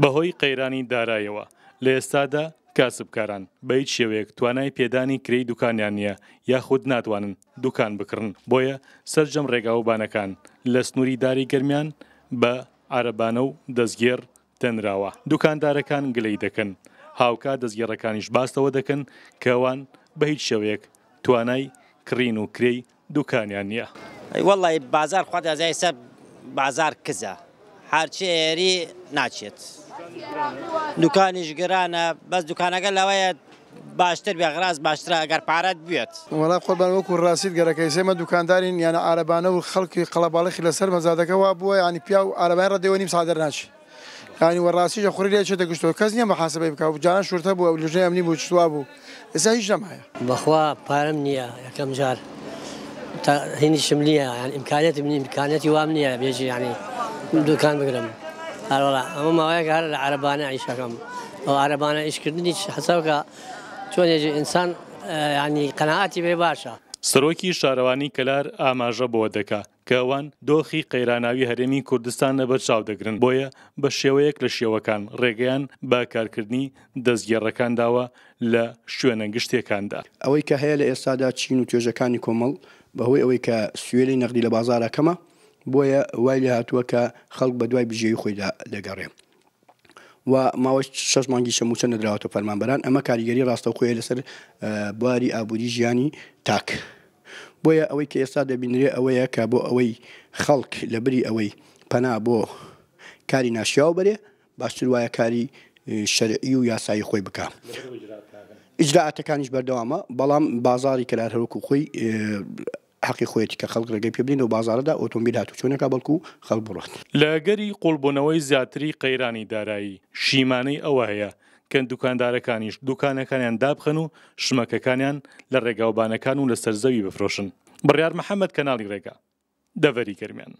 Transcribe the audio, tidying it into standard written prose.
بەهۆی قەیرانی دارایەوە لە ئێستادا کاسبکاران بە هیچ شێوەیەک توانای پێدانی کرێی دوکانیان نییە یاخود ناتوانن دوکان بکڕن، بۆیە سەرجەم ڕێگاوبانەکان لە سنووری داری گەرمیان بە عەرەبانە و دەستگێڕ دەنراوە، دوکاندارەکان گلەی دەکەن، هاوکات دەستگێڕەکانیش باس لەوە دەکەن کە ئەوان بە هیچ شێوەیەک توانای کڕین و کرێی دوکانیان نییە. ئەی وەڵی بازار خوا دەزای سە بازار کزە هەرچی ئێری ناچێت دوکانیش گرانە بەس دوکانەکە لەوەیە باشتر بێ غراز باشترە ئەگەر پارەت بوێت. وەڵا قوربان وەکو ڕاستیت گەرەکە ئیسە ئێمە دوکاندارین یانە عارەبانە و خەڵکی قەڵەباڵخی لەسەر مەزادەکە وا بووە یانی پیاو عارەبانە ڕەدێوە نیم ساعت دەرناچی یانی وە ڕاستیش خوری لێ چێتە گشتەوە کەس نییە محاسبەی بکا و جاران شورتە بوو لژنەی ئەمنی بوو چ وا بوو ئێستا هیچ نەمایە. بەخوا پارەم نییە یەکەم جار تا هینیشم نییە یان ئیمکانیەتم نییە ئیمکانیەتی وام نییە بێژی یانی دوکان بگرم هەروەڵا ئەمە ماوەیەک هەر لە عەرەبانە ئیشەکەم ئەو عەرەبانە ئیشکردنیش حەسەوکە چۆنێژی ئینسان یانی قەناعەتی بێ باشە. سەرۆکی شارەوانی کەلار ئاماژە بەوە دەکا کە ئەوان دۆخی قەیراناوی هەرێمی کوردستان لەبەرچاو دەگرن، بۆیە بە شێوەیەک لە شێوەکان ڕێگەیان بە کارکردنی دەستگێڕەکان داوە لە شوێنە گشتییەکاندا. ئەوەی کە هەیە لە ئێستادا چین و توێژەکانی کۆمەڵ بەهۆی ئەوەی کە سوێلی نەقدی لە بازاڕا کەمە بۆیە وای لێهاتووە کە خەڵک بەدوای بژێوی خۆیدا دەگەڕێ و ماوەی شەش مانگیشە مووچە نەدراوەتە فەرمانبەران، ئەمە کاریگەری ڕاستەوخۆیە لەسەر بواری ئابووری ژیانی تاک. بۆیە ئەوەی کە ئێستا دەبینرێ ئەوەیە کە بۆ ئەوەی خەڵک لە بری ئەوەی پەنا بۆ کاری ناشیاو بەرێ باشتر وایە کاری شەرعی و یاسایی خۆی بکا. ئیجرائاتەکانیش بەردەوامە، بەڵام بازاڕی کەلار هەروەکو خۆی حەقی خۆیەتی کە خەڵک ڕێگەی پێ بدەین لەو بازاڕەدا ئۆتۆمبیل هاتوچۆ نەکا بەڵکو خەڵک بڕوات. لە ئەگەری قوڵبوونەوەی زیاتری قەیرانی دارایی، شیمانەی ئەوە هەیە کە دوکاندارەکانیش دوکانەکانیان دابخەن و شمەکەکانیان لە ڕێگاوبانەکان و لەسەر زەوی بفرۆشن. بڕیار محەمەد کەناڵی ڕێگا، دەڤەری گەرمیان.